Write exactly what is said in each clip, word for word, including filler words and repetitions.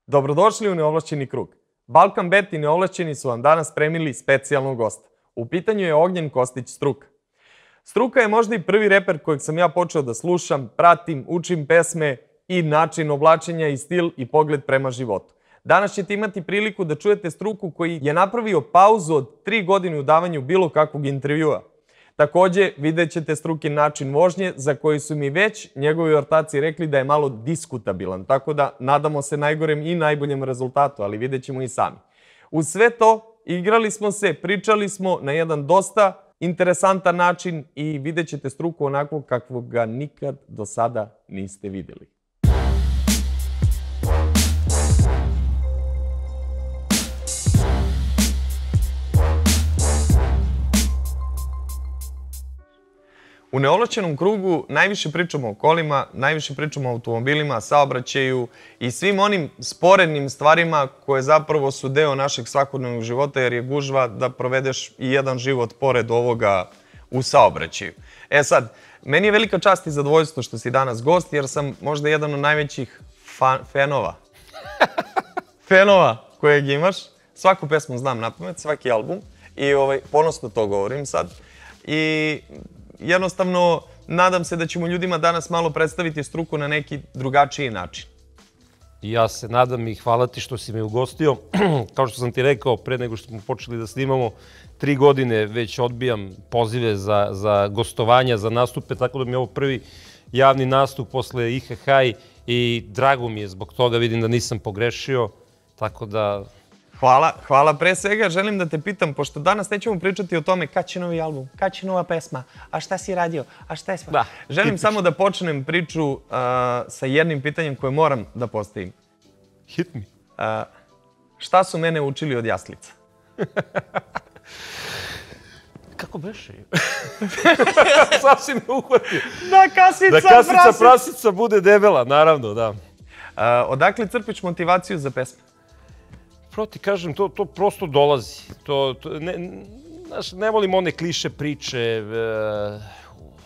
Dobrodošli u Neovlašćeni krug. Balkan Bet i Neovlašćeni su vam danas spremili specijalnog gosta. U pitanju je Ognjen Kostić Struka. Struka je možda i prvi reper kojeg sam ja počeo da slušam, pratim, učim pesme i način oblačenja i stil i pogled prema životu. Danas ćete imati priliku da čujete Struku koji je napravio pauzu od tri godine u davanju bilo kakvog intervjua. Takođe, vidjet ćete Strukin način vožnje za koji su mi već njegovi ortaci rekli da je malo diskutabilan, tako da nadamo se najgorem i najboljem rezultatu, ali vidjet ćemo i sami. Uz sve to, igrali smo se, pričali smo na jedan dosta interesantan način i vidjet ćete Struku onako kakvog ga nikad do sada niste vidjeli. U Neovlašćenom krugu najviše pričamo o kolima, najviše pričamo o automobilima, saobraćaju i svim onim sporednim stvarima koje zapravo su deo našeg svakodnevnog života, jer je gužva da provedeš i jedan život pored ovoga u saobraćaju. E sad, meni je velika čast i zadovoljstvo što si danas gost, jer sam možda jedan od najvećih fanova. Fenova kojeg imaš. Svaku pesmu znam napamet, svaki album i ponosno to govorim sad. I jednostavno, nadam se da ćemo ljudima danas malo predstaviti Struku na neki drugačiji način. Ja se nadam i hvala ti što si me ugostio. Kao što sam ti rekao, pre nego što smo počeli da snimamo, tri godine već odbijam pozive za gostovanja, za nastupe, tako da mi je ovo prvi javni nastup posle I H H i drago mi je zbog toga, vidim da nisam pogrešio, tako da... Hvala, hvala. Pre svega želim da te pitam, pošto danas nećemo pričati o tome kad će novi album, kad će nova pesma, a šta si radio, a šta je sva... Želim samo da počnem priču sa jednim pitanjem koje moram da postavim. Hit me. Šta su mene učili od jaslica? Kako beše? Sad si me uhvatio. Da kasica prasica. Da kasica prasica bude debela, naravno, da. Odakle crpiš motivaciju za pesme? Prvo ti kažem, to prosto dolazi. Ne volim one kliše priče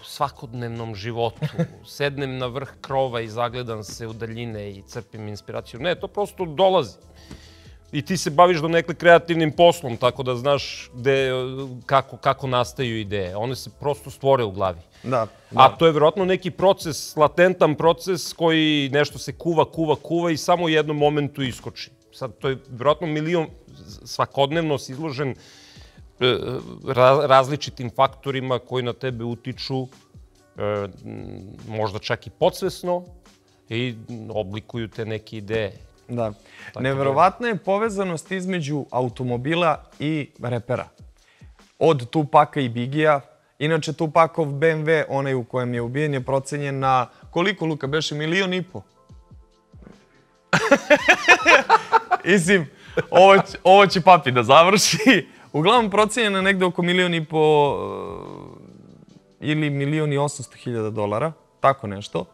u svakodnevnom životu. Sednem na vrh krova i zagledam se u daljine i crpim inspiraciju. Ne, to prosto dolazi. I ti se baviš donekle kreativnim poslom, tako da znaš kako nastaju ideje. One se prosto stvore u glavi. A to je vjerojatno neki proces, latentan proces koji nešto se kuva, kuva, kuva i samo u jednom momentu iskoči. Sad, to je vjerojatno milion, svakodnevno si izložen različitim faktorima koji na tebe utiču, možda čak i podsvesno, i oblikuju te neke ideje. Da. Neverovatna je povezanost između automobila i repera. Od Tupaka i Bigija. Inače, Tupakov B M W, onaj u kojem je ubijen, je procenjen na koliko, Luka, beše milion i po? Isim, ovo će papi da završi. Uglavnom procenjen je negde oko milion i po ili milion i osamsto hiljada dolara, tako nešto.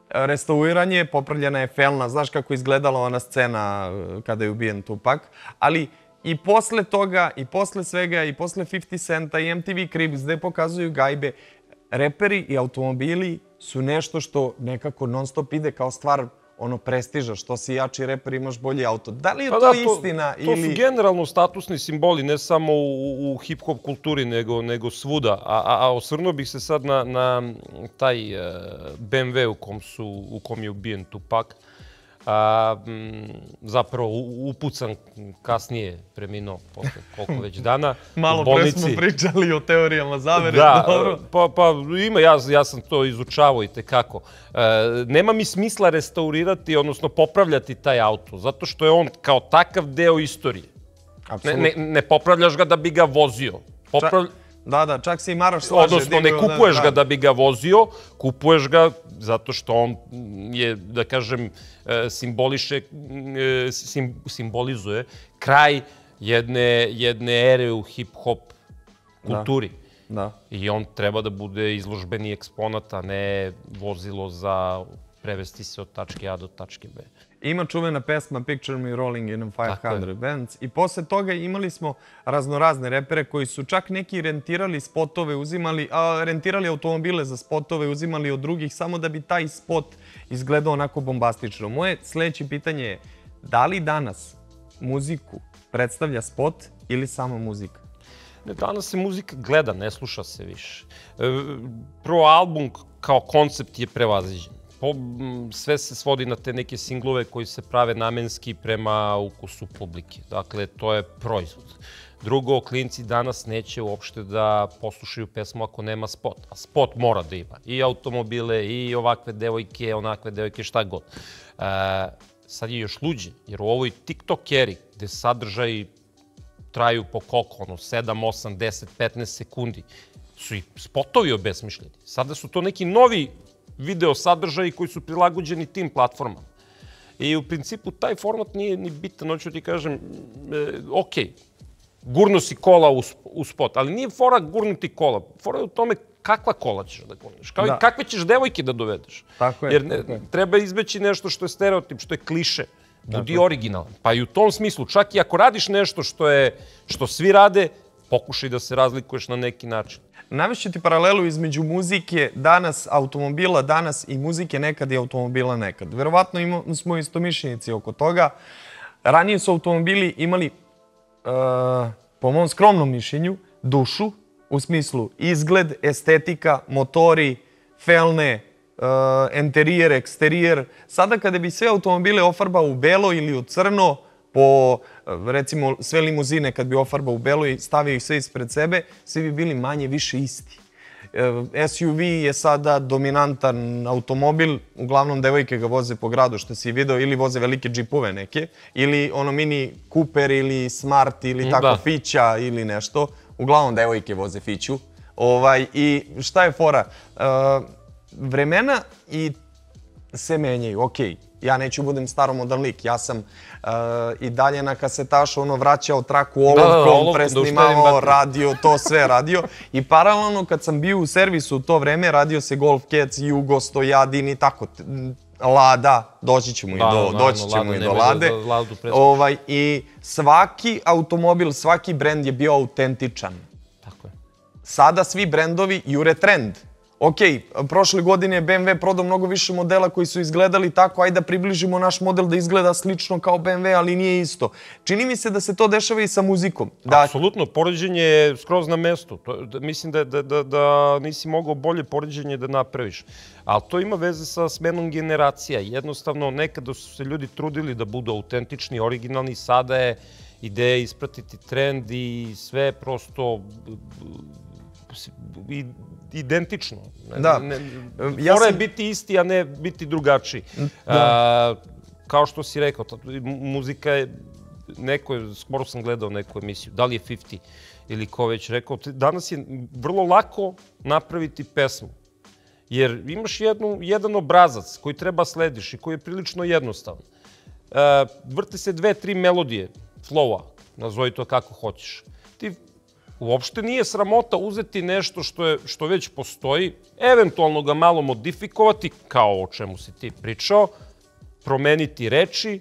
Restauriranje, popravljena je felna, znaš kako izgledala ona scena kada je ubijen Tupak, ali i posle toga, i posle svega, i posle pedeset centa, i M T V Cribs, gde pokazuju gajbe, reperi i automobili su nešto što nekako non stop ide kao stvar ono prestiža, što si jači reper imaš bolji auto. Da li je to istina ili... To su generalno statusni simboli, ne samo u hip-hop kulturi, nego svuda. A osvrnuo bih se sad na taj B M W u kom je ubijen Tupak. Zapravo upucan kasnije preminuo posle koliko već dana. Malo pre smo pričali o teorijama zavere. Da, pa ima, ja sam to izučavao i tekako. Nema mi smisla restaurirati, odnosno popravljati taj auto, zato što je on kao takav deo istorije. Ne popravljaš ga da bi ga vozio. Da, da, čak se i Maraš slaže. Odnosno, ne kupuješ ga da bi ga vozio, kupuješ ga zato što on je, da kažem, simboliše, simbolizuje kraj jedne ere u hip-hop kulturi. I on treba da bude izložbeni eksponat, a ne vozilo za prevesti se od tačke A do tačke B. Ima čuvena pesma Picture Me Rolling in a five hundred Benz i posle toga imali smo raznorazne repere koji su čak neki rentirali spotove, uzimali, rentirali automobile za spotove, uzimali od drugih samo da bi taj spot izgledao onako bombastično. Moje sledeće pitanje je, Da li danas muziku predstavlja spot ili samo muzika? Ne, danas se muzika gleda, ne sluša se više. Prvo, album kao koncept je prevaziđen. Sve se svodi na te neke singlove koji se prave namenski prema ukusu publike. Dakle, to je proizvod. Drugo, klinci danas neće uopšte da poslušaju pesmu ako nema spot. A spot mora da ima i automobile, i ovakve devojke, onakve devojke, šta god. Sad je još luđe, jer u ovoj TikTok eri, gde sadržaji traju po koliko, ono, sedam, osam, deset, petnaest sekundi, su i spotovi obesmišljeni. Sada su to neki novi video sadržaji koji su prilagođeni tim platformama. I u principu taj format nije ni bitan, hoću ti kažem, ok, gurno si kola u spot, ali nije fora gurnuti kola. Fora je u tome kakva kola ćeš da gurneš, kao i kakve ćeš devojke da dovedeš. Tako je. Jer treba izbeći nešto što je stereotip, što je kliše. Budi originalan. Pa i u tom smislu, čak i ako radiš nešto što svi rade, pokušaj da se razlikuješ na neki način. Navešću ti paralelu između muzike danas, automobila danas i muzike nekad i automobila nekad. Verovatno smo istomišljenici oko toga. Ranije su automobili imali, po mom skromnom mišljenju, dušu, u smislu izgled, estetika, motori, felne, interijer, eksterijer. Sada kada bi sve automobile ofarbao u belo ili u crno, po, recimo, sve limuzine kad bi ofarbao u belo i stavio ih sve ispred sebe, svi bi bili manje više isti. S U V je sada dominantan automobil, uglavnom devojke ga voze po gradu, što si vidio, ili voze velike džipove neke, ili ono mini Cooper ili Smart ili tako Fića ili nešto. Uglavnom devojke voze Fiću. I šta je fora? Vremena i se menjaju, okej. Ja neću budem staromodan lik, ja sam i dalje na kasetašu ono vraćao traku olovkom, presnimao, radio, to sve radio. I paralelno kad sam bio u servisu u to vreme, radio se Golf Cats, Jugo, Stojadin i tako, Lada, doći ćemo i do Lade. I svaki automobil, svaki brend je bio autentičan. Tako je. Sada svi brendovi jure trend. Ok, prošle godine je B M W prodao mnogo više modela koji su izgledali tako, ajde da približimo naš model da izgleda slično kao B M W, ali nije isto. Čini mi se da se to dešava i sa muzikom. Apsolutno, poređenje je skroz na mestu. Mislim da nisi mogao bolje poređenje da napraviš. Ali to ima veze sa smenom generacija. Jednostavno, nekada su se ljudi trudili da budu autentični, originalni, sada je ideja ispratiti trend i sve prosto identično. Mora je biti isti, a ne biti drugačiji. Kao što si rekao, muzika je, neko, skoro sam gledao neku emisiju, da li je pedeset ili ko već rekao, danas je vrlo lako napraviti pesmu. Jer imaš jedan obrazac koji treba slediš i koji je prilično jednostavan. Vrte se dve, tri melodije, flowa, nazovi to kako hoćeš. Ti uopšte nije sramota uzeti nešto što već postoji, eventualno ga malo modifikovati, kao o čemu si ti pričao, promeniti reči.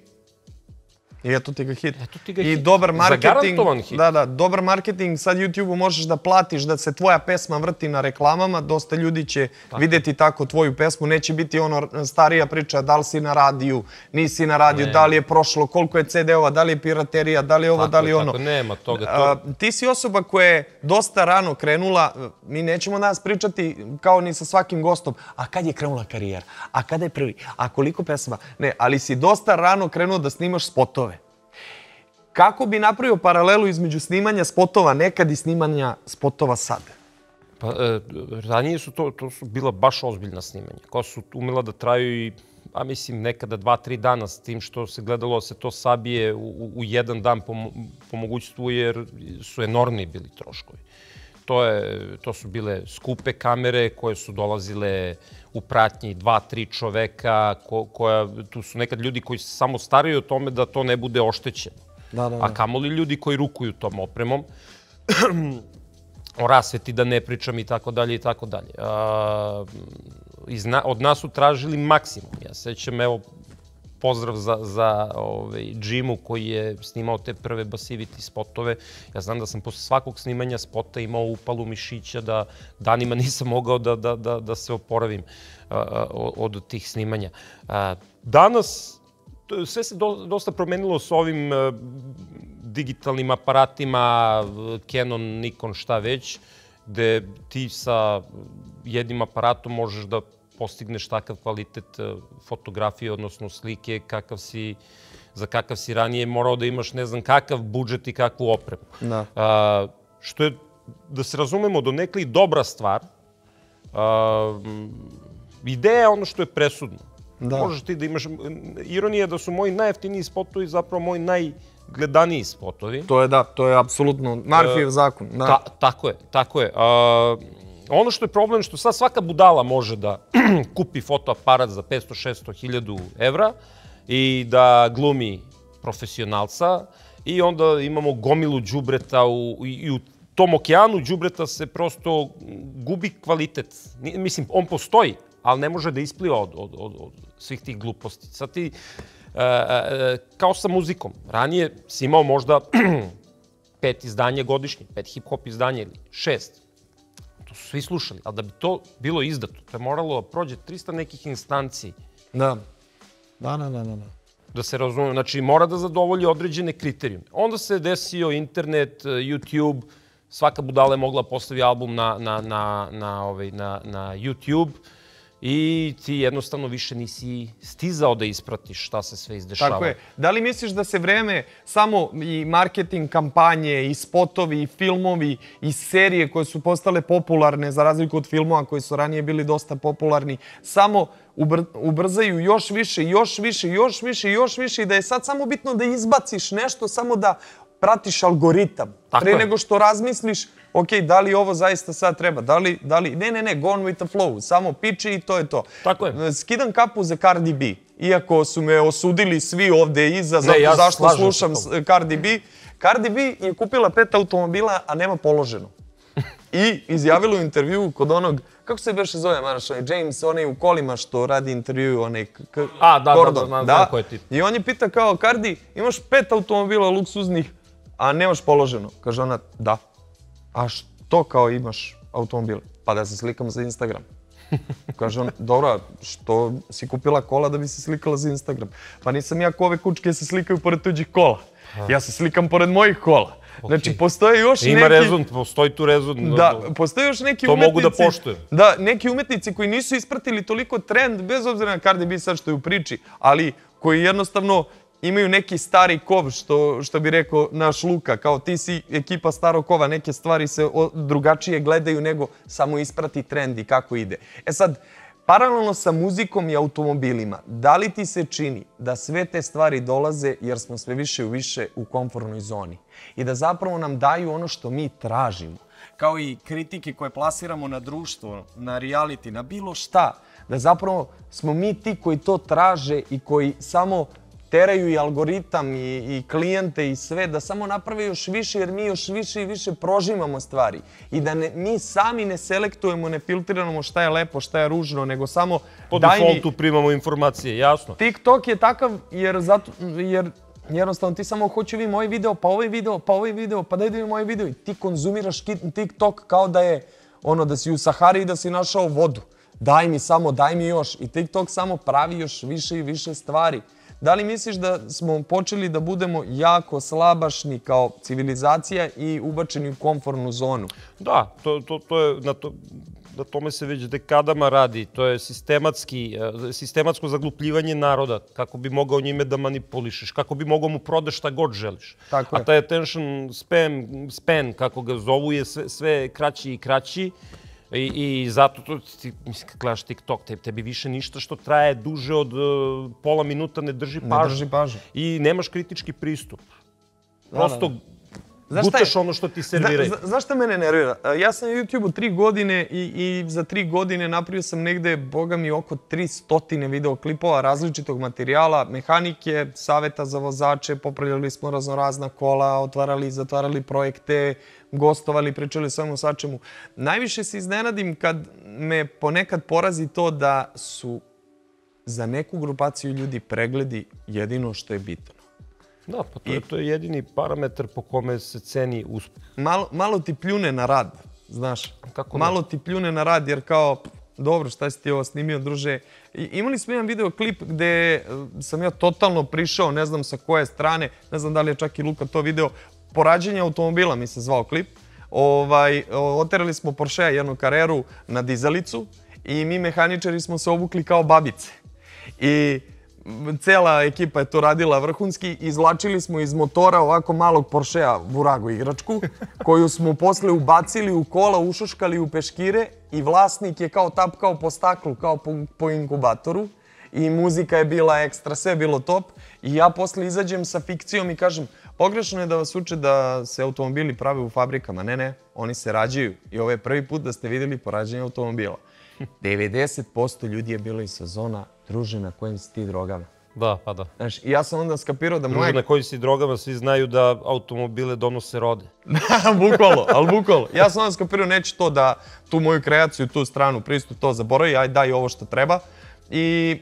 I eto ti ga hit. Eto ti ga I hit. dobar marketing. Zagarantovan hit. Da, da, dobar marketing. Sad YouTube-u možeš da platiš da se tvoja pesma vrti na reklamama. Dosta ljudi će vidjeti tako tvoju pesmu. Neće biti ono starija priča da li si na radiju, nisi na radiju, da li je prošlo, koliko je C D-ova, da li je piraterija, da li je ovo, da li je ono. Tako, nema toga. Ti si osoba koja je dosta rano krenula. Mi nećemo danas pričati kao ni sa svakim gostom. A kad je krenula karijera? A kada je prvi? A koliko pesma? Ne, ali si dosta rano krenuo da snimaš spotove. Kako bi napravio paralelu između snimanja spotova nekad i snimanja spotova sad? Pa, ranije su to, to su bila baš ozbiljna snimanja, koja su umela da traju i, a mislim, nekada dva, tri dana s tim što se gledalo se to sabije u, u jedan dan po, po mogućstvu, jer su enormni bili troškovi. To, je, to su bile skupe kamere koje su dolazile u pratnji dva, tri čoveka, ko, koja, tu su nekad ljudi koji se samo staraju o tome da to ne bude oštećeno. A kamoli ljudi koji rukuju tom opremom, o rasveti da ne pričam i tako dalje i tako dalje. Od nas su tražili maksimum. Ja sećam, evo, pozdrav za Jimu koji je snimao te prve Basivity spotove. Ja znam da sam posle svakog snimanja spota imao upalu mišića, da danima nisam mogao da se oporavim od tih snimanja. Danas sve se dosta promenilo s ovim digitalnim aparatima, Canon, Nikon, šta već, gde ti sa jednim aparatom možeš da postigneš takav kvalitet fotografije, odnosno slike, kakav si, za kakav si ranije morao da imaš ne znam kakav budžet i kakvu opremu. Da. A, što je, da se razumemo, donekle i dobra stvar. A, ideja je ono što je presudno. Da. Možeš ti da imaš... Ironija da su moji najjeftiniji spotovi zapravo moji najgledaniji spotovi. To je da, to je apsolutno Murphyjev zakon. Da. Ta, tako je, tako je. A, ono što je problem što sad svaka budala može da kupi fotoaparat za petsto šesto hiljadu evra i da glumi profesionalca i onda imamo gomilu đubreta u, i u tom okeanu đubreta se prosto gubi kvalitet. Mislim, on postoji, ali ne može da ispliva od, od, od, od svih tih gluposti. Sad ti, e, e, kao sa muzikom, ranije si imao možda pet izdanja godišnje, pet hip-hop izdanja ili šest. To su svi slušali, ali da bi to bilo izdato, to je moralo da prođe trista nekih instanciji. Da. Da, da, da, da. Da se razume, znači mora da zadovolji određene kriterijume. Onda se desio internet, YouTube, svaka budala je mogla postavi album na, na, na, na, ovaj, na, na YouTube i ti jednostavno više nisi stizao da ispratiš šta se sve izdešava. Tako je. Da li misliš da se vreme samo i marketing kampanje, i spotovi, i filmovi, i serije koje su postale popularne, za razliku od filmova koji su ranije bili dosta popularni, samo ubr ubrzaju još više, još više, još više, još više i da je sad samo bitno da izbaciš nešto, samo da pratiš algoritam. Tako Pre je. nego što razmisliš, ok, da li ovo zaista sad treba, da li, da li, ne, ne, ne, gone with the flow, samo piči i to je to. Tako je. Skidam kapu za Cardi B, iako su me osudili svi ovde iza, zato ja zašto slažem slušam se s Cardi B. Cardi B je kupila pet automobila, a nema položeno. I izjavila u intervju kod onog, kako se beše zove, Maraš, onaj James, onaj u kolima što radi intervju, onaj A, da, Gordon. da, da, znam, znam ko je ti. I on je pita kao, Cardi, imaš pet automobila luksuznih, a nemaš položeno. Kaže ona, da. A što kao imaš automobile? Pa da se slikam za Instagram. Kaže on, dobro, što si kupila kola da bi se slikala za Instagram? Pa nisam ja ko ove kučke se slikaju pored tuđih kola. Ja se slikam pored mojih kola. Znači, postoje još neki... Ima rezon, postoji tu rezon. Da, postoje još neki to umetnici... mogu da poštujem. Da, neki umetnici koji nisu ispratili toliko trend, bez obzira na Cardi B sad što je u priči, ali koji jednostavno imaju neki stari kov, što, što bi rekao naš Luka, kao ti si ekipa starog kova, neke stvari se drugačije gledaju nego samo isprati trend i kako ide. E sad, paralelno sa muzikom i automobilima, da li ti se čini da sve te stvari dolaze jer smo sve više i više u komfortnoj zoni i da zapravo nam daju ono što mi tražimo? Kao i kritike koje plasiramo na društvo, na reality, na bilo šta, da zapravo smo mi ti koji to traže i koji samo teraju i algoritam i, i klijente i sve, da samo naprave još više jer mi još više i više prožimamo stvari. I da ne, mi sami ne selektujemo, ne filtriramo šta je lepo, šta je ružno, nego samo po daj mi... defaultu primamo informacije, jasno. TikTok je takav jer, zato, jer jednostavno ti samo hoću vi moj video, pa ovaj video, pa ovaj video, pa daj da mi moj video i ti konzumiraš TikTok kao da je ono da si u Sahari i da si našao vodu. Daj mi samo, daj mi još. I TikTok samo pravi još više i više stvari. Da li misliš da smo počeli da budemo jako slabašni kao civilizacija i ubačeni u komfortnu zonu? Da, to, to, to je, na, to, na tome se već dekadama radi. To je sistematski, sistematsko zaglupljivanje naroda, kako bi mogao njime da manipulišeš, kako bi mogao mu prodaš šta god želiš. Tako je. A taj attention span, span, kako ga zovu, je sve, sve kraći i kraći. I, i zato, to, ti, mislim, kad gledaš TikTok, te, tebi više ništa što traje duže od uh, pola minuta ne drži pažnju. Ne drži pažnju. I nemaš kritički pristup. Da, Prosto da, da. gutaš ono što ti serviraju. Zna, znaš šta mene nervira? Ja sam na YouTube-u tri godine i, i za tri godine napravio sam negde, boga mi, oko tri stotine videoklipova različitog materijala, mehanike, saveta za vozače, popravljali smo raznorazna kola, otvarali i zatvarali projekte, gostovali, pričali svemu svačemu. Najviše se iznenadim kad me ponekad porazi to da su za neku grupaciju ljudi pregledi jedino što je bitno. Da, pa to je, to je jedini parametar po kome se ceni uspeh. Malo, malo ti pljune na rad, znaš. Kako malo ti pljune na rad jer kao dobro, šta si ti ovo snimio, druže? I, imali smo jedan videoklip gde sam ja totalno prišao, ne znam sa koje strane, ne znam da li je čak i Luka to video, Porađenje automobila mi se zvao klip. Ovaj, oterali smo Porschea jednu kareru na dizalicu i mi mehaničari smo se obukli kao babice. I cela ekipa je to radila vrhunski. Izvlačili smo iz motora ovako malog Porschea Burago igračku, koju smo posle ubacili u kola, ušuškali u peškire i vlasnik je kao tapkao po staklu, kao po, po inkubatoru. I muzika je bila ekstra, sve je bilo top. I ja posle izađem sa fikcijom i kažem, pogrešno je da vas uče da se automobili prave u fabrikama. Ne, ne, oni se rađaju. I ovo je prvi put da ste vidjeli porađenje automobila. devedeset posto ljudi je bilo iz sezona, druže, na kojim si ti drogama. Da, pa da. Znaš, i ja sam onda skapirao da moje... Druže, na kojim si drogama, svi znaju da automobile donose rode. Bukvalno, ali bukvalno. Ja sam onda skapirao, neću to da tu moju kreaciju, tu stranu, pristup, to zaboravi, aj daj ovo što treba. I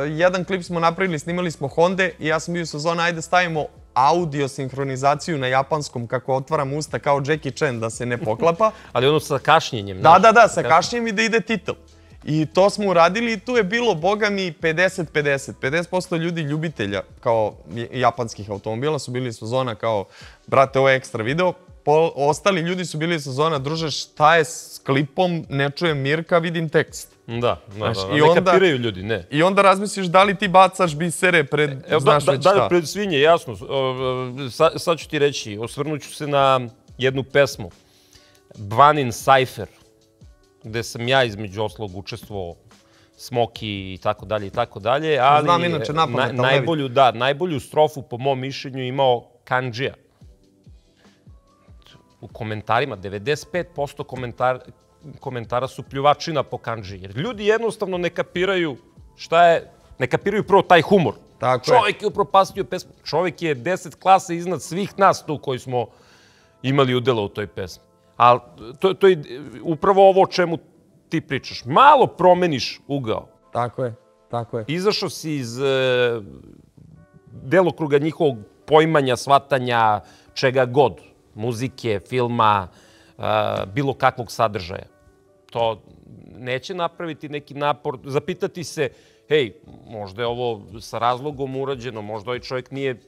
jedan klip smo napravili, snimali smo Honde i ja sam bio u sezoni, ajde stavimo audio sinhronizaciju na japanskom kako otvaram usta kao Jackie Chan da se ne poklapa. Ali ono sa kašnjenjem. Da, da, da, sa kašnjenjem i da ide titel. I to smo uradili i tu je bilo, boga mi, pedeset pedeset. pedeset posto ljudi ljubitelja kao japanskih automobila su bili iz sezona kao, brate, ovo je ekstra video. Ostali ljudi su bili iz sezona, druže, šta je s klipom, ne čujem Mirka, vidim tekst. Da, da, da, ne kapiraju ljudi, ne. I onda razmisliš da li ti bacaš bisere pred, znaš već šta. Da, pred svinje, jasno. Sad ću ti reći, osvrnut ću se na jednu pesmu. Banin Cypher, gde sam ja između oslog učestvovao, Smoki i tako dalje i tako dalje. Znam inače napamet, ali najbolju, da, najbolju strofu po mom mišljenju imao Kanđija. U komentarima, devedeset pet posto komentara, komentara su pljuvačina po kanđi. Jer ljudi jednostavno ne kapiraju šta je, ne kapiraju prvo taj humor. Tako Čovjek je upropastio pesmu. Čovjek je deset klasa iznad svih nas tu koji smo imali udjela u toj pesmi. Ali to, to je upravo ovo o čemu ti pričaš. Malo promeniš ugao. Tako je, tako je. Izašao si iz e, delokruga njihovog poimanja, shvatanja, čega god. Muzike, filma, uh, bilo kakvog sadržaja. To neće napraviti neki napor, zapitati se, hej, možda je ovo sa razlogom urađeno, možda ovaj čovjek nije,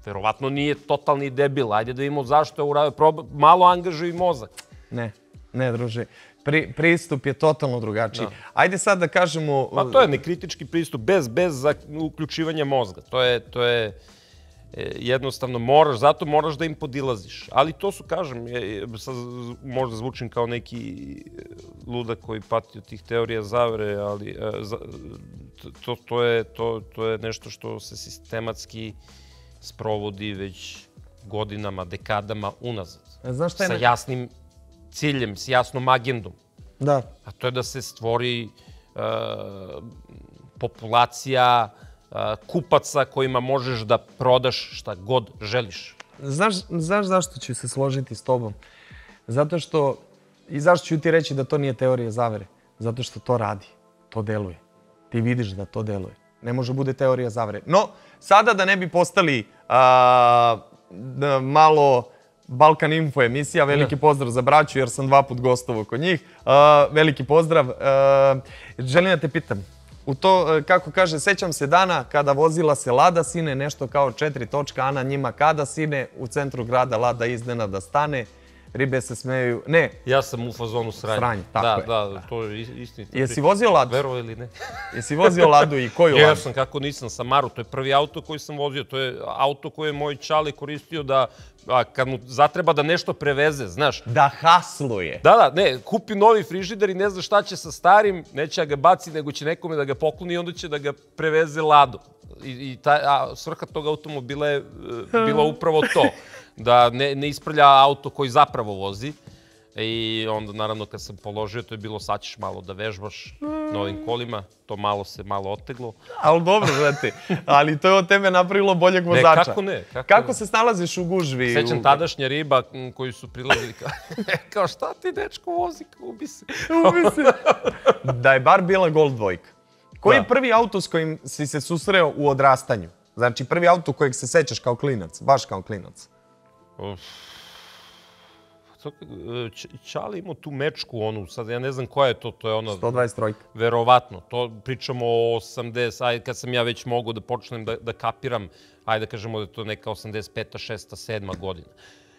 verovatno nije totalni debil, ajde da vidimo zašto je uradio, malo angažuj mozak. Ne, ne, druže. Pri, pristup je totalno drugačiji. Da. Ajde sad da kažemo... Pa to je nekritički pristup, bez, bez uključivanja mozga. To je... To je jednostavno moraš, zato moraš da im podilaziš. Ali to su, kažem, sad možda zvučim kao neki ludak koji pati od tih teorija zavere, ali to, to, je, to, to je nešto što se sistematski sprovodi već godinama, dekadama unazad. Znaš šta je sa jasnim ciljem, s jasnom agendom. Da. A to je da se stvori uh, populacija kupaca kojima možeš da prodaš šta god želiš. Znaš, znaš zašto ću se složiti s tobom? Zato što, i zašto ću ti reći da to nije teorija zavere? Zato što to radi, to deluje. Ti vidiš da to deluje. Ne može bude teorija zavere. No, sada da ne bi postali a, da malo Balkan Info emisija, veliki pozdrav za braću jer sam dva put gostovao kod njih. A, veliki pozdrav. A, želim da te pitam, u to, kako kaže, sećam se dana kada vozila se Lada sine, nešto kao četiri točka, a na njima kada sine, u centru grada Lada iznenada stane, ribe se smeju, ne. Ja sam u fazonu sranja. Sranje, tako da, je. Da, da, to je istinito. Jesi vozio Ladu? Verovo ili ne? Jesi vozio Ladu i koju Ladu? Ja sam, kako nisam, Samaru, to je prvi auto koji sam vozio, to je auto koje je moj čale koristio da, a, kad mu zatreba da nešto preveze, znaš. Da hasluje. Da, da, ne, kupi novi frižider i ne zna šta će sa starim, neće da ga baci, nego će nekome da ga pokloni i onda će da ga preveze Ladu. I, i ta, a, svrha tog automobila je e, bila upravo to, da ne, ne isprlja auto koji zapravo vozi. I onda, naravno, kad sam položio, to je bilo sad ćeš malo da vežbaš na ovim kolima. To malo se malo oteglo. Ali dobro, znate, ali to je od tebe napravilo boljeg vozača. Ne, kako ne? Kako, kako se snalaziš u gužvi? Sećam u... tadašnja riba koji su prilazili kao, kao šta ti dečko vozi, ubi se. Ubi se. Da je bar bila Gol dvojka. Koji je prvi auto s kojim si se susreo u odrastanju? Znači, prvi auto kojeg se sećaš kao klinac, baš kao klinac. Uf. Čale imao tu mečku, onu, sad ja ne znam koja je to, to je ona... sto dvadeset tri. Verovatno, to pričamo o osamdeset, ajde kad sam ja već mogao da počnem da, da kapiram, ajde da kažemo da je to neka osamdeset peta, šesta, sedma godina.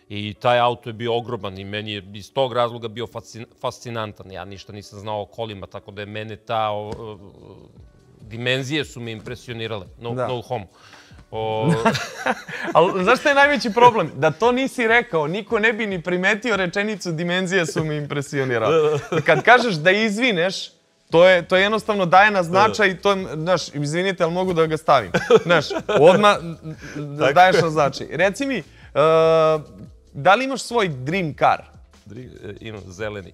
I taj auto je bio ogroman i meni je iz tog razloga bio fascinantan. Ja ništa nisam znao o kolima, tako da je mene ta... O, o, dimenzije su me impresionirale, no, no homo. O... Ali znaš šta je najveći problem? Da to nisi rekao, niko ne bi ni primetio rečenicu dimenzije su me impresionirale. Kad kažeš da izvineš, to je, to jednostavno daje na značaj i to je, znaš, izvinite, ali mogu da ga stavim. Znaš, odmah daješ na značaj. Reci mi, uh, da li imaš svoj dream car? Imam zeleni.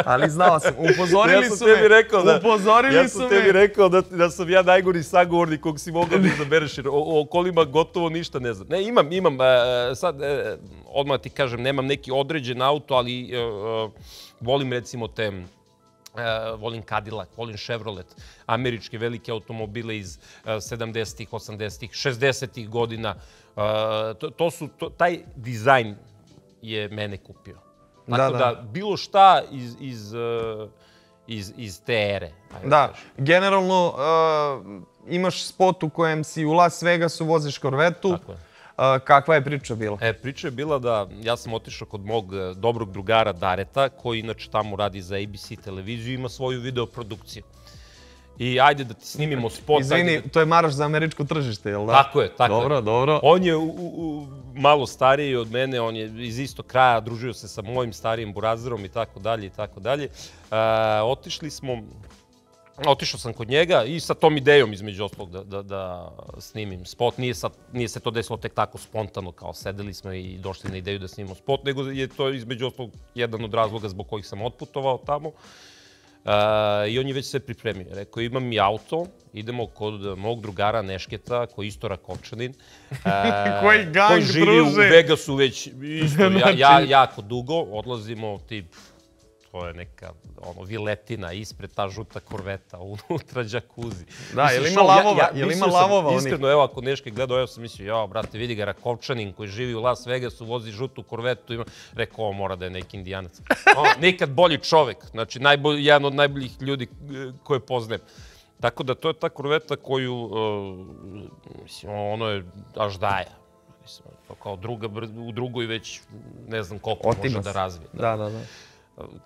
Ali znao sam, upozorili ja su me. Rekao da, upozorili ja sam su tebi me. rekao da, da sam ja najgori sagovornik kog si mogao da izabereš, jer o, o kolima gotovo ništa ne znam. Ne, imam, imam, uh, sad, uh, odmah ti kažem, nemam neki određen auto, ali uh, volim recimo te, uh, volim Cadillac, volim Chevrolet, američke velike automobile iz uh, sedamdesetih, osamdesetih, šezdesetih godina. Uh, to, to su, to, taj dizajn je mene kupio. Tako da, da bilo šta iz, iz, iz, iz te ere. Da, generalno uh, imaš spot u kojem si u Las Vegasu, voziš korvetu. Tako je. Uh, kakva je priča bila? E, priča je bila da ja sam otišao kod mog dobrog drugara Dareta, koji inače tamo radi za A B C televiziju i ima svoju videoprodukciju. I ajde da ti snimimo spot. Izvini, to je Maroš za američko tržište, jel da? Tako je, tako dobro, je. Dobro, On je u, u, malo stariji od mene, on je iz istog kraja, družio se sa mojim starijim burazerom i tako dalje i tako dalje. Otišli smo, otišao sam kod njega i sa tom idejom između ostalog da, da, da snimim spot. Nije, sad, nije se to desilo tek tako spontano, kao sedeli smo i došli na ideju da snimimo spot, nego je to između ostalog jedan od razloga zbog kojih sam otputovao tamo. Uh, I on je već sve pripremio. Rekao, imam i auto, idemo kod mog drugara Nešketa, koji je isto Rakovčanin. Uh, koji gang, koji živi druže. u Vegasu već isto, ja, ja, jako dugo. Odlazimo, tip, to je neka ono, viletina, ispred ta žuta korveta, unutra džakuzi. Da, je li ima lavova? Ja, ja, je li ima lavova? Iskreno, oni? Evo, ako Neške gledao, ja sam mislio, ja, brate, vidi ga Rakovčanin koji živi u Las Vegasu, vozi žutu korvetu, ima... Rekao, ovo mora da je neki indijanac. O, nikad bolji čovek, znači, najbolj, jedan od najboljih ljudi koje poznajem. Tako da, to je ta korveta koju, uh, mislim, ono je až daja. Mislim, kao druga, u drugoj već ne znam koliko Otimas. može da razvije. Da, da, da.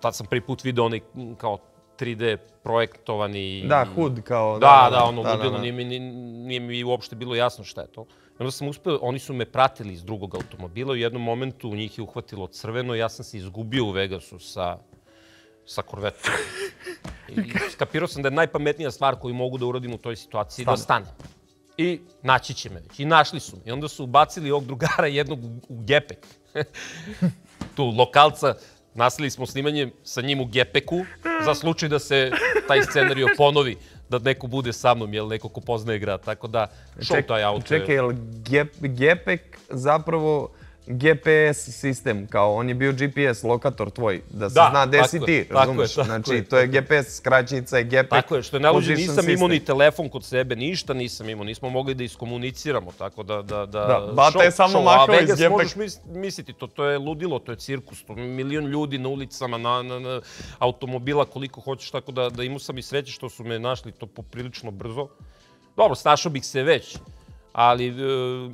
Tad sam prvi put vidio onaj kao tri D projektovani... Da, hud kao... Da, da, da ono da, ludilo, da, da. Nije, mi, nije mi uopšte bilo jasno šta je to. Onda sam uspio, oni su me pratili iz drugog automobila, u jednom momentu u njih je uhvatilo crveno i ja sam se izgubio u Vegasu sa, sa korvetom. I skapirao sam da je najpametnija stvar koju mogu da uradim u toj situaciji da stane. I naći će me već. I našli su me. I onda su ubacili ovog drugara jednog u gepek. Tu lokalca. Nastavili smo snimanje sa njim u gepeku, za slučaj da se taj scenario ponovi, da neko bude sa mnom, jel neko ko poznaje grad, tako da šao taj auto. Čekaj, jel gepek zapravo G P S sistem, kao on je bio G P S lokator tvoj, da se zna gde si ti, razumeš? Znači, to je G P S, skraćenica je gepek. Tako je, što je najluđe, nisam imao ni telefon kod sebe, ništa nisam imao, nismo mogli da iskomuniciramo, tako da... Da, Bata je samo makao iz gepek. A Vegas možeš misliti, to je ludilo, to je cirkus, to je milion ljudi na ulicama, na automobila, koliko hoćeš, tako da imao sam i sreće što su me našli to poprilično brzo. Dobro, snašao bih se već. Ali,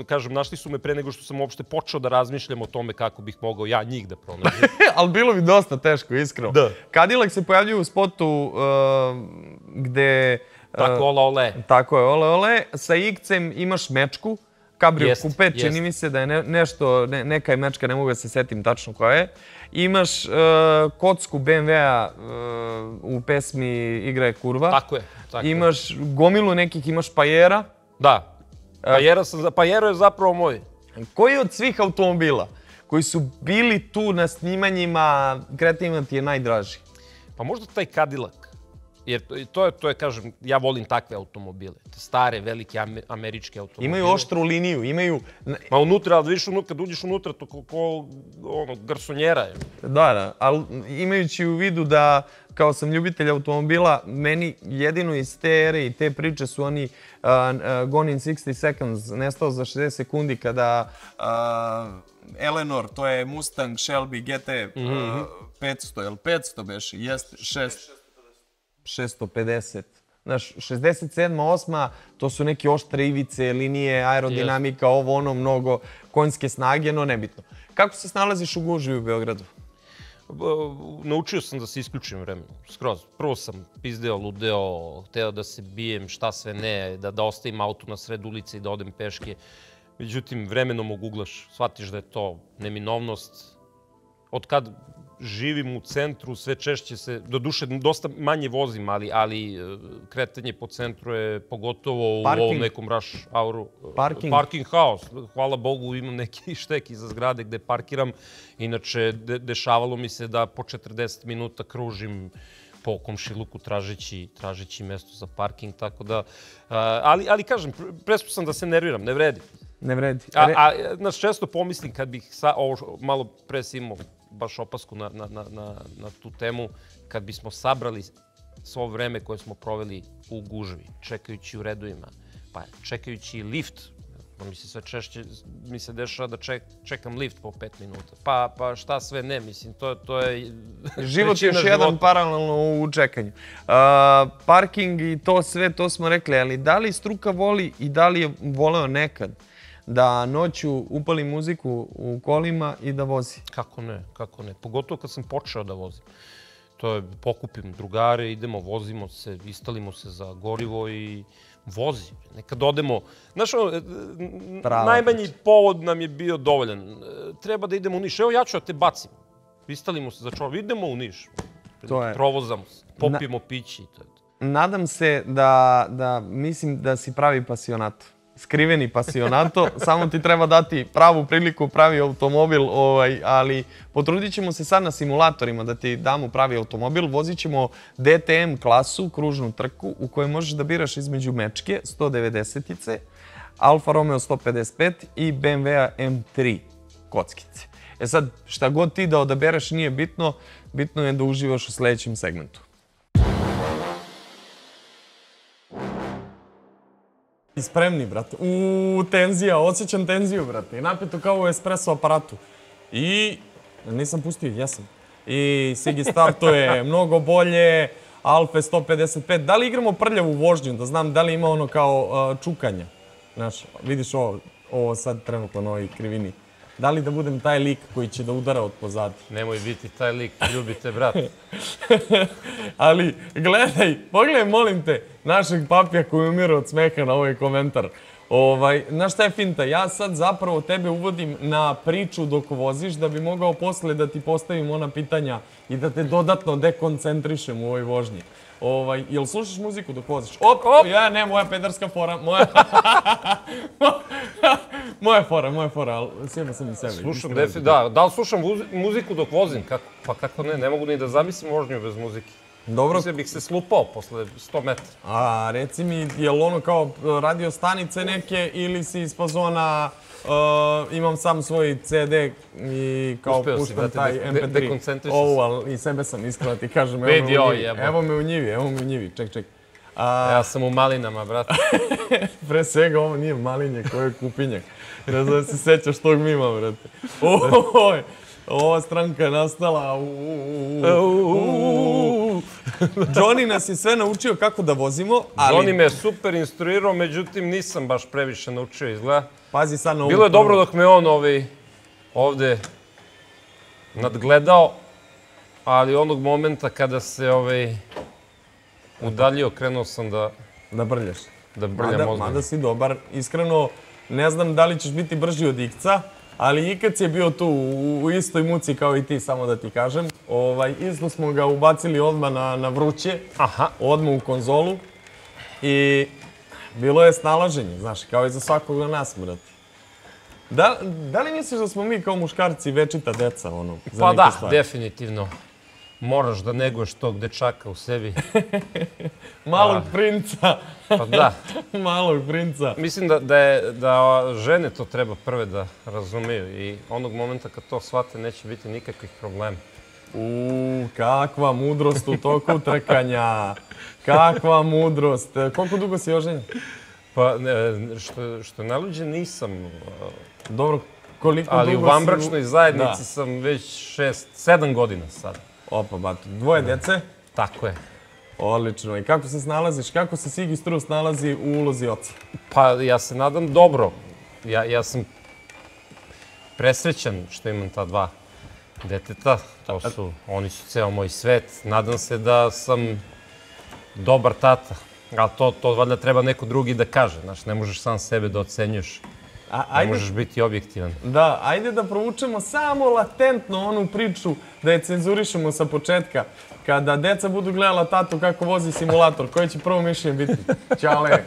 kažem, našli su me pre nego što sam uopšte počeo da razmišljam o tome kako bih mogao ja njih da pronađem. Ali bilo bi dosta teško, iskreno. Da. Cadillac se pojavljuje u spotu gde... Tako, ole, ole. Tako je, ole, ole. Sa X-em imaš mečku, kabrio kupe, čini mi se da je nešto, neka je mečka, ne mogu da se setim tačno koja je. Imaš kocku B M W-a u pesmi Igra je kurva. Tako je. Imaš gomilu nekih, imaš Pajera. Da. Pajero je zapravo moj. Koji od svih automobila koji su bili tu na snimanjima kreativima ti je najdraži? Pa možda taj Cadillac. Jer to je, to je, kažem, ja volim takve automobile. Stare, velike američke automobile. Imaju oštru liniju, imaju... Ma unutra, ali vidiš, kad uđeš unutra, to ko garsonjera je. Da, da, ali imajući u vidu da kao sam ljubitelj automobila, meni jedino iz te ere i te priče su oni Gone in sixty seconds, nestao za šezdeset sekundi, kada Eleanor, to je Mustang Shelby G T petsto, jel petsto beše? Jeste, šesto pedeset. Znaš, šezdeset sedma, osma, to su neke oštre ivice, linije, aerodinamika, ovo ono, mnogo konjske snage, no nebitno. Kako se snalaziš u gužvi u Beogradu? Naučio sam da se isključim vremenom, skroz. Prvo sam pizdeo, ludeo, hteo da se bijem, šta sve ne, da ostavim auto na sred ulice i da odem peške. Međutim, vremenom oguglaš, shvatiš da je to neminovnost. Od kad živim u centru, sve češće se, do duše dosta manje vozim, ali kretanje po centru je pogotovo u ovom nekom rush houru. Parking? Parking haos. Hvala Bogu, imam neki štek iza zgrade gde parkiram. Inače, dešavalo mi se da po četrdeset minuta kružim po komšiluku tražeći mesto za parking, tako da... Ali kažem, prespo sam da se nerviram, ne vredi. Ne vredi. A nas često pomislim kad bih ovo malo pre si imao baš opasku na tu temu, kad bismo sabrali svo vreme koje smo proveli u gužvi, čekajući u redovima, pa čekajući lift, mi se sve češće, mi se dešava da čekam lift po pet minuta, pa šta sve ne, mislim, to je... Život je još jedan paralelno u čekanju. Parking i to sve, to smo rekli, ali da li struka voli i da li je voleo nekad da noću upali muziku u kolima i da vozi? Kako ne, kako ne. Pogotovo kad sam počeo da vozim. To je, pokupim drugare, idemo, vozimo se, istalimo se za gorivo i vozi. Nekad odemo... Znaš, najmanji povod nam je bio dovoljan. Treba da idemo u Niš. Evo ja ću da te bacim. Istalimo se za čovjek. Idemo u Niš. Provozamo se. Popijemo pići. Nadam se da, mislim da si pravi pasionato. Skriveni pasionato, samo ti treba dati pravu priliku, pravi automobil, ali potrudit ćemo se sad na simulatorima da ti damo pravi automobil. Vozit ćemo D T M klasu, kružnu trku, u kojoj možeš da biraš između Mečke sto devedesetice, Alfa Romeo sto pedeset pet i B M W M tri kockice. E sad, šta god ti da odabereš nije bitno, bitno je da uživaš u sledećem segmentu. Spremni, brate. Uuu, tenzija, osjećam tenziju, brate. Napeto kao u espresso aparatu. I... nisam pustio, jesam. I Sigi startuje mnogo bolje, Alfa sto pedeset pet. Da li igramo prljavu vožnju, da znam da li ima ono kao čukanja? Znaš, vidiš ovo sad trenutno na ovoj krivini. Da li da budem taj lik koji će da udara od pozadi? Nemoj biti taj lik, ljubite, brat. Ali, gledaj, pogledaj, molim te, našeg papija koji umire od smeha na ovaj komentar. Znaš šta je finta? Ja sad zapravo tebe uvodim na priču dok voziš da bi mogao posle da ti postavim ona pitanja i da te dodatno dekoncentrišem u ovoj vožnji. Jel slušaš muziku dok voziš? Op, ja ne, moja pederska fora, moja... Moja fora, moja fora, ali sjeba sam i sebe. Slušam, da, da li slušam muziku dok vozim? Pa kako ne, ne mogu ni da zamislim vožnju bez muzike. Dobro. Mislim bih se slupao posle sto metara. A, reci mi, je li ono kao radio stanice neke ili si iz fazona imam sam svoj C D i kao puštam taj M P tri. Ovo, ali i sebe sam iskreno ti kažem, evo me u njivi, evo me u njivi, ček, ček. Ja sam u malinama, brate. Pre svega ovo nije malinje, koje je kupinjak. Ne znam da se sećaš tog mima, brate. Oj, ova stranka je nastala. Johnny nas je sve naučio kako da vozimo, ali... Johnny me super instruirao, međutim nisam baš previše naučio, izgleda. Pazi sad na ovu... Bilo je dobro dok me on ovde nadgledao, ali onog momenta kada se udaljio, krenuo sam da... Da brljaš. Da brljam ozbiljno. Mada si dobar. Iskreno, ne znam da li ćeš biti brži od Ikca, ali Ikac je bio tu u istoj muci kao i ti, samo da ti kažem. Isto smo ga ubacili odmah na vruće, odmah u konzolu. I bilo je snalaženje, znaš, kao i za svakog od nas, brate. Da li misliš da smo mi kao muškarci večita deca, ono, za neke stvari? Pa da, definitivno. Moraš da neguješ tog dečaka u sebi. Malog princa. Pa da. Malog princa. Mislim da žene to treba prve da razumeju i onog momenta kad to shvate neće biti nikakvih problema. Uuu, kakva mudrost u toku trkanja. Kakva mudrost. Koliko dugo si oženjen? Pa, što, što naluđe nisam. Dobro, koliko ali dugo u vanbračnoj zajednici da. sam već šest, sedam godina sad. Opa, bato. Dvoje djece? Tako je. Odlično. I kako se snalaziš? Kako se Sigi Strus nalazi u ulozi oca? Pa, ja se nadam dobro. Ja, ja sam presrećan što imam ta dva deteta. To su, oni su ceo moj svet. Nadam se da sam dobar tata. Ali to, to valjda treba neko drugi da kaže. Znaš, ne možeš sam sebe da ocenjuješ. A, ajde, ne možeš biti objektivan. Da, ajde da provučemo samo latentno onu priču, da je cenzurišemo sa početka. Kada deca budu gledala tatu kako vozi simulator, koje će prvo mišljenje biti? Ćale.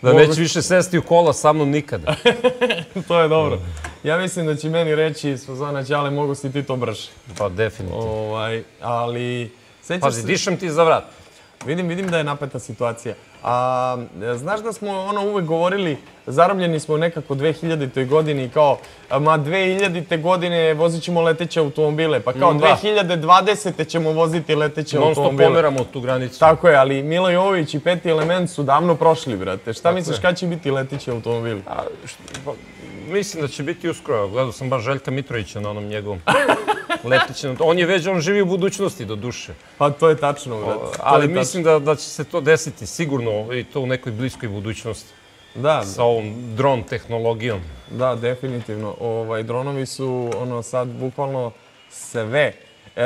Da neće više sesti u kola sa mnom nikada. To je dobro. Ja mislim da će meni reći iz fazona Ćale, mogu si ti to brže. Pa definitivno. Ovaj, ali... Pazi, dišem ti za vrat. Vidim, vidim da je napeta situacija. A, znaš da smo ono uvek govorili, zarobljeni smo nekako u dve hiljaditoj godini, kao, ma dve hiljadite godine vozit ćemo leteće automobile, pa kao dve hiljade dvadesete ćemo voziti leteće automobile. Non stop pomeramo tu granicu. Tako je, ali Milo Jovović i Peti element su davno prošli, brate. Šta misliš, kada će biti leteći automobili? A, što, mislim da će biti uskoro. Gledao sam baš Željka Mitrovića na onom njegovom letećem. On je već, on živi u budućnosti do duše. Pa to je tačno, brate. Ali mislim da, da će se to desiti sigurno i to u nekoj bliskoj budućnosti. Da. Sa ovom dron tehnologijom. Da, definitivno. Ovaj, dronovi su ono sad bukvalno sve. E,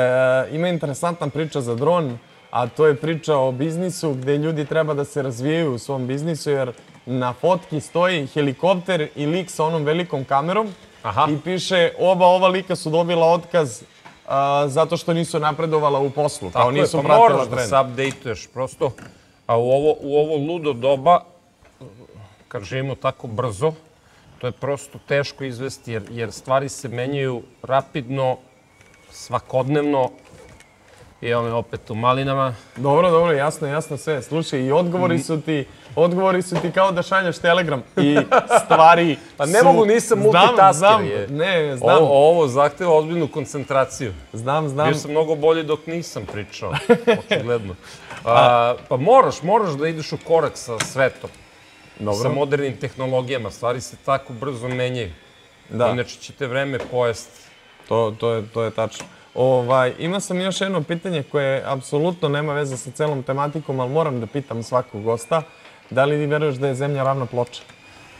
ima interesantna priča za dron, a to je priča o biznisu gde ljudi treba da se razvijaju u svom biznisu, jer na fotki stoji helikopter i lik sa onom velikom kamerom. Aha. I piše oba ova lika su dobila otkaz a, zato što nisu napredovala u poslu. Tako kao nisu je, pa pratila moraš trend. da se update-uješ prosto. A u ovo, u ovo ludo doba, kad živimo tako brzo, to je prosto teško izvesti, jer, jer stvari se menjaju rapidno, svakodnevno. I evo me opet u malinama. Dobro, dobro, jasno, jasno sve. Slušaj, i odgovori su ti, odgovori su ti kao da šalješ telegram i stvari Pa ne mogu, nisam multitasker. Znam, znam, ne, znam. Ovo, ovo zahteva ozbiljnu koncentraciju. Znam, znam. Bio sam mnogo bolji dok nisam pričao, očigledno. A, pa moraš, moraš da ideš u korak sa svetom. Dobro. Sa modernim tehnologijama. Stvari se tako brzo menjaju. Da. Inače će te vreme pojesti. To, to, je, to je tačno. Ovaj, ima sam još jedno pitanje koje apsolutno nema veze sa celom tematikom, ali moram da pitam svakog gosta. Da li ti veruješ da je Zemlja ravna ploča?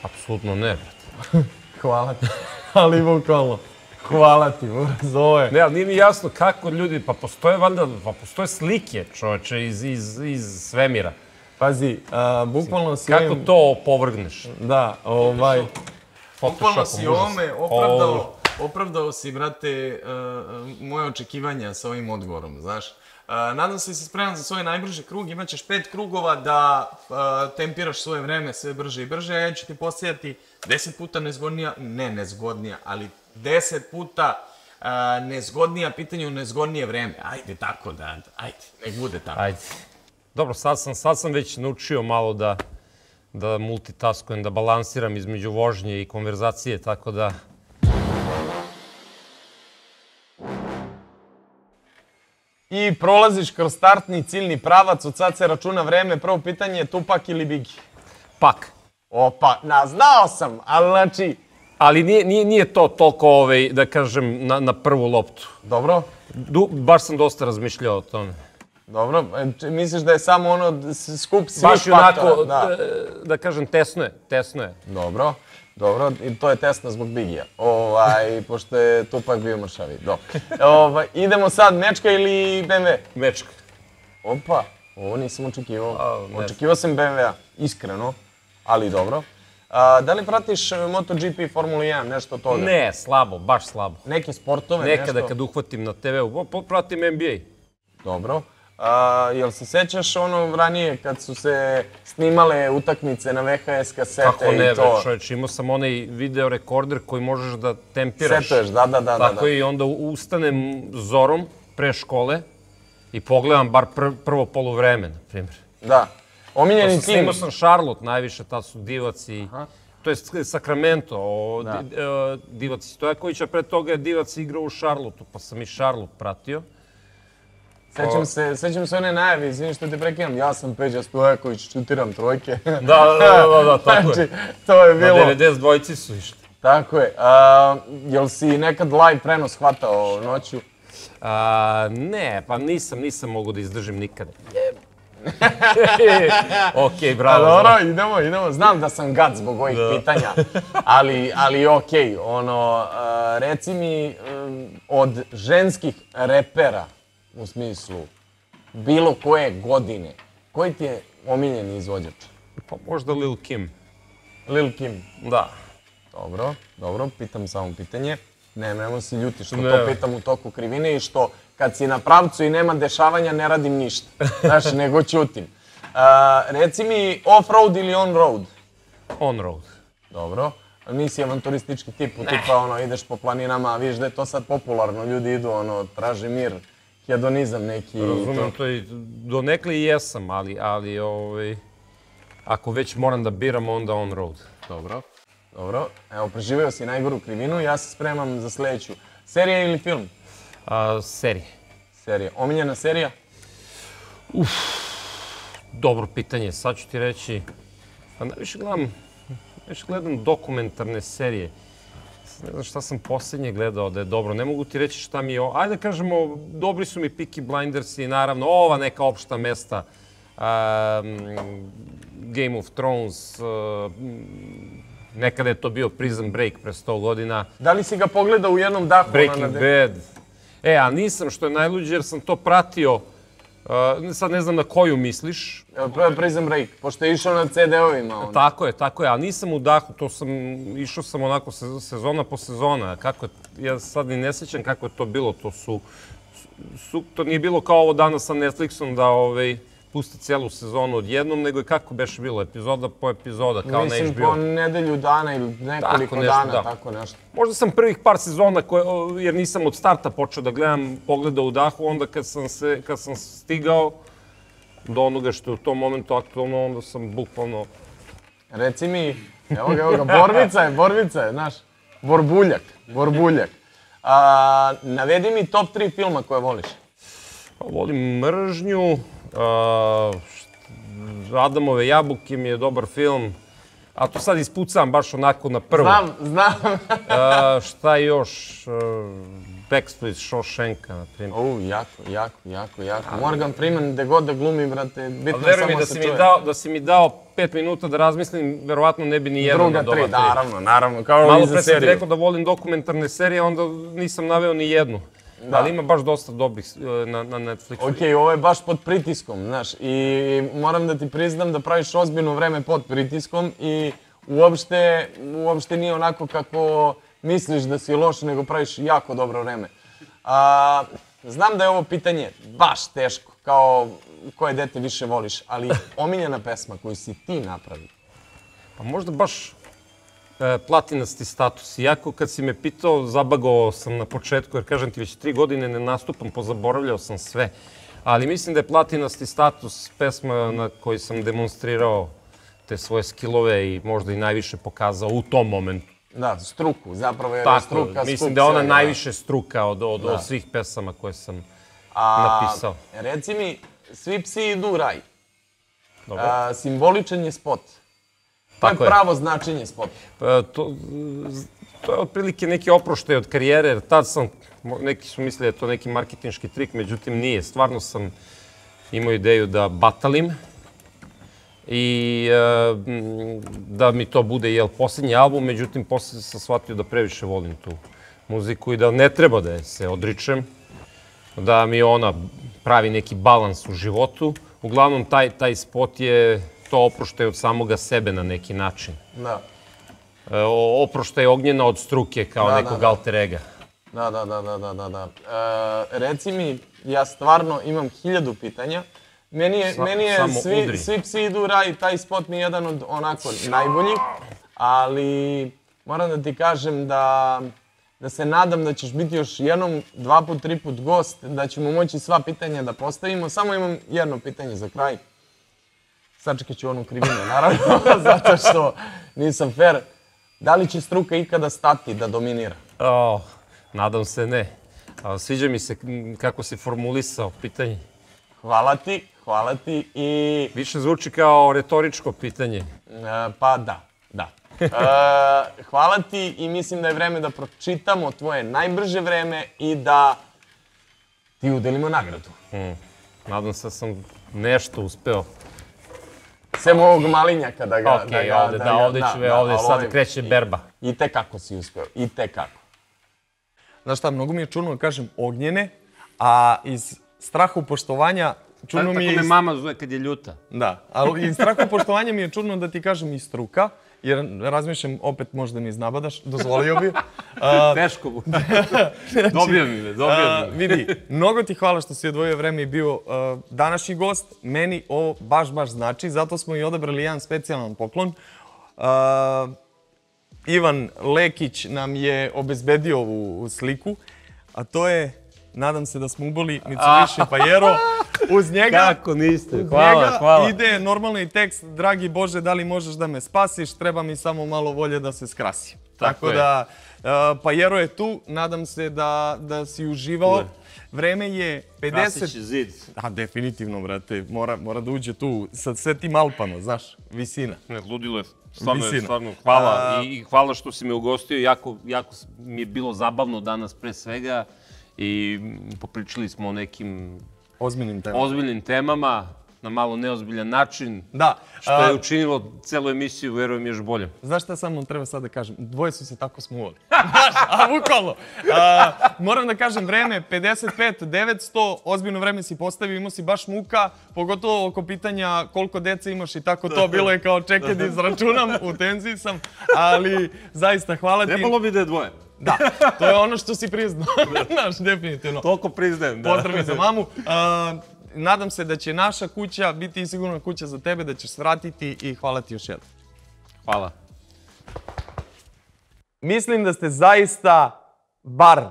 Apsolutno ne, brate. Hvala ti. Ali bukvalno. Hvala ti, zove. Ne, ali nije mi jasno kako ljudi, pa postoje valjda, pa postoje slike, čoveče, iz, iz, iz svemira. Pazi, a, bukvalno si... Kako ovim... to opovrgneš? Da, ovaj... Bukvalno si ovome opravdao... Opravdao si, brate, moje očekivanja sa ovim odgovorom, znaš. Nadam se da si spreman za svoj najbrži krug, imat ćeš pet krugova da tempiraš svoje vreme sve brže i brže, a ja ću ti postavljati deset puta nezgodnija, ne nezgodnija, ali deset puta nezgodnija pitanja u nezgodnije vreme. Ajde tako da, ajde, nek bude tako. Ajde. Dobro, sad sam, sad sam već naučio malo da, da multitaskujem, da balansiram između vožnje i konverzacije, tako da... I prolaziš kroz startni ciljni pravac, od sad se računa vreme, prvo pitanje je Tupak ili Bigi? Pak. Opa, na, znao sam, ali znači... Ali nije, nije, nije to toliko, ovaj, da kažem, na, na prvu loptu. Dobro. Du, baš sam dosta razmišljao o tome. Dobro, misliš da je samo ono skup svih baš faktora? Baš onako, da. da kažem, tesno je, tesno je. Dobro. Dobro, i to je tesno zbog Bigija, ovaj, pošto je Tupak bio mršavi. Ovaj, idemo sad, Mečka ili B M W? Mečka. Opa, ovo nisam očekivao. Očekivao sam B M W-a, iskreno, ali dobro. A, da li pratiš MotoGP, Formulu jedan, nešto od toga? Ne, slabo, baš slabo. Neke sportove, Nekada nešto? Nekada kad uhvatim na te veu, pratim N B A. Dobro. A, jel se sećaš ono ranije kad su se snimale utakmice na V H S kasete i to? Kako ne, čovječ, imao sam onaj video rekorder koji možeš da tempiraš. Setuješ, da, da, da. Tako i onda ustanem zorom pre škole i pogledam bar prvo polovreme, na primjer. Da. Omiljeni tim. Snimao sam Charlotte najviše, tad su Divac i... To je Sacramento, Divac i Stojaković, a pre toga je Divac igrao u Charlotteu, pa sam i Charlotte pratio. Sećam se, sećam se one najave, izvini što te prekidam, ja sam Peđa Stojaković, šutiram trojke. Da, da, da, da, tako je. Znači, to je bilo... Na devedeset dvojci su išli. Tako je. A, jel si nekad live prenos hvatao noću? A, ne, pa nisam, nisam mogu da izdržim nikada. Okej, bravo. Dobro, idemo, idemo. Znam da sam gad zbog ovih pitanja, ali, ali okej. Ono, reci mi, od ženskih repera, u smislu bilo koje godine, koji ti je omiljeni izvođač? Pa možda Lil Kim. Lil Kim. Da. Dobro, dobro, pitam samo pitanje. Ne, nemoj se ljuti što to pitam u toku krivine i što kad si na pravcu i nema dešavanja ne radim ništa. Znaš, nego ćutim. Reci mi off-road ili on-road? On-road. Dobro. Nisi avanturistički tip, tipa ono, ideš po planinama, a vidiš da je to sad popularno, ljudi idu, ono, traže mir, hedonizam neki. Razumem to i donekle i jesam, ali, ali, ovaj, ako već moram da biram, onda on-road. Dobro, dobro. Evo, preživio si najgoru krivinu, ja se spremam za sljedeću. Serija ili film? A, serije. Serija. Omiljena serija? Uf, dobro pitanje, sad ću ti reći, pa najviše gledam, najviše gledam dokumentarne serije. Ne znam šta sam posljednje gledao da je dobro, ne mogu ti reći šta mi je, ajde da kažemo, dobri su mi Peaky Blinders i naravno ova neka opšta mesta, um, Game of Thrones, uh, nekada je to bio Prison Break pre sto godina. Da li si ga pogledao u jednom dahu? Breaking Bad. E, a nisam, što je najluđe, jer sam to pratio, uh, sad ne znam na koju misliš. Prison Break, pošto je išao na ce de ovima. Tako je, tako je, ali nisam u dahu, to sam, išao sam onako sezona po sezona. Kako je, ja sad ni ne sjećam kako je to bilo, to su, su to nije bilo kao ovo danas sa Netflixom da ovaj, pusti cijelu sezonu odjednom, nego je kako beše bilo, epizoda po epizoda, kao na Mislim, H B O. po nedelju dana ili nekoliko dana, tako nešto. Možda sam prvih par sezona, jer nisam od starta počeo da gledam, pogledao u dahu, onda kad sam, se, kad sam stigao do onoga što je u tom momentu aktualno, onda sam bukvalno... Reci mi, evo ga, evo ga, borbica je, borbica je, znaš, borbuljak, borbuljak. A, navedi mi top tri filma koje voliš. Volim Mržnju, a, Adamove jabuke mi je dobar film, a to sad ispucam baš onako na prvo. Znam, znam. a, šta još? Backstreet iz Shawshanka, na primjer. U, jako, jako, jako, jako. Morgan Freeman, gde god da glumi, brate, bitno samo da se si čuje. mi dao, da si mi dao pet minuta da razmislim, verovatno ne bi ni jedan Druga od ova tri, tri. naravno, naravno, kao Malo i za pre sam ti seriju. rekao da volim dokumentarne serije, onda nisam naveo ni jednu. Ali ima baš dosta dobrih na, na Netflixu. Okej, ovo je baš pod pritiskom, znaš, i moram da ti priznam da praviš ozbiljno vreme pod pritiskom i uopšte, uopšte nije onako kako misliš da si loš, nego praviš jako dobro vreme. A, znam da je ovo pitanje baš teško, kao koje dete više voliš, ali omiljena pesma koju si ti napravio. Pa možda baš e, platinasti status. Iako kad si me pitao, zabagao sam na početku, jer kažem ti već tri godine ne nastupam, pozaboravljao sam sve. Ali mislim da je platinasti status pesma na kojoj sam demonstrirao te svoje skillove i možda i najviše pokazao u tom momentu. Da, struku, zapravo je Tako, struka. mislim da je ona najviše struka od, od, od svih pesama koje sam A, napisao. Reci mi, svi psi idu u raj. Dobro. A, simboličan je spot. To je Tako je. pravo značenje spota. Pa, to, to je otprilike neki oproštaj od karijere, jer tad sam, neki su mislili da je to neki marketinški trik, međutim nije. Stvarno sam imao ideju da batalim i e, da mi to bude jel, posljednji album, međutim poslije sam shvatio da previše volim tu muziku i da ne treba da je se odričem, da mi ona pravi neki balans u životu. Uglavnom, taj, taj spot je to oproštaj od samoga sebe na neki način. Da. E, oproštaj ognjena od struke kao Da, nekog da, da. alter ega. Da, da, da, da, da, da, da. E, reci mi, ja stvarno imam hiljadu pitanja. Meni je, Sa- meni je samo svi, udri. svi psi idu u raj, taj spot mi je jedan od onako najboljih, ali moram da ti kažem da, da se nadam da ćeš biti još jednom, dva put, tri put gost, da ćemo moći sva pitanja da postavimo. Samo imam jedno pitanje za kraj. Sačekat ću onu krivinu, naravno, zato što nisam fair. Da li će struka ikada stati da dominira? O, nadam se ne. A, sviđa mi se kako si formulisao pitanje. Hvala ti, hvala ti i... Više zvuči kao retoričko pitanje. E, pa da, da. E, hvala ti i mislim da je vreme da pročitamo tvoje najbrže vreme i da ti udelimo nagradu. Mm. Nadam se da sam nešto uspeo. Sem ovog malinjaka da ga... Ok, da ga, ovde, da, da, ga- ovde ću, ovde ali sad ovaj- kreće berba. I te kako si uspeo, i te kako. Znaš šta, mnogo mi je čudno da kažem ognjene, a iz straha upoštovanja čudno mi je... Tako me iz- mama zove kad je ljuta. Da, ali iz straha upoštovanja mi je čudno da ti kažem i struka, jer razmišljam opet možda mi iznabadaš, dozvolio bi. A, Teško bude. Dobio mi me, dobio a, mi me. vidi, mnogo ti hvala što si odvojio vreme i bio a, današnji gost. Meni ovo baš, baš znači, zato smo i odabrali jedan specijalan poklon. A, Ivan Lekić nam je obezbedio ovu sliku, a to je, nadam se da smo uboli Mitsubishi Pajero. Uz njega, Kako niste? uz Hvala, njega hvala. ide normalni tekst, dragi Bože, da li možeš da me spasiš, treba mi samo malo volje da se skrasi. Tako Tako je. da, uh, Pajero je tu, nadam se da, da si uživao. Ne. Vreme je pedeset... Krasić zid. A, definitivno, brate, mora, mora da uđe tu sa sve tim Alpama, znaš, visina. Ne, ludilo je. Stvarno, je, Visina. stvarno, hvala. A- I, I hvala što si me ugostio. Jako, jako mi je bilo zabavno danas pre svega. I mm, popričali smo o nekim Ozbiljnim temama. ozbiljnim temama na malo neozbiljan način. Da. Što je a, učinilo celu emisiju, verujem, još bolje. Znaš šta samo treba sad da kažem? Dvoje su se tako smuvali. Znaš, a bukvalno. A, moram da kažem, vreme pedeset pet devetsto, ozbiljno vreme si postavio, imao si baš muka, pogotovo oko pitanja koliko dece imaš i tako to, bilo je kao čekaj da izračunam, u tenziji sam, ali zaista hvala ti. Trebalo bi da je dvoje. Da, to je ono što si priznao, znaš, definitivno. Toliko priznajem, da. Pozdrav i za mamu. A, nadam se da će naša kuća biti i sigurna kuća za tebe, da ćeš svratiti i hvala ti još jednom. Hvala. Mislim da ste zaista, bar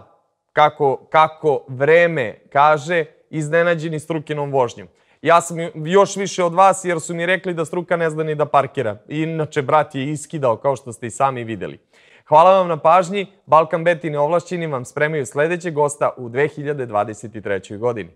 kako, kako vreme kaže, iznenađeni Strukinom vožnjom. Ja sam još više od vas jer su mi rekli da Struka ne zna ni da parkira. Inače, brat je iskidao, kao što ste i sami vidjeli. Hvala vam na pažnji. Balkan Bet i neovlašćeni vam spremaju sljedećeg gosta u dve hiljade dvadeset trećoj godini.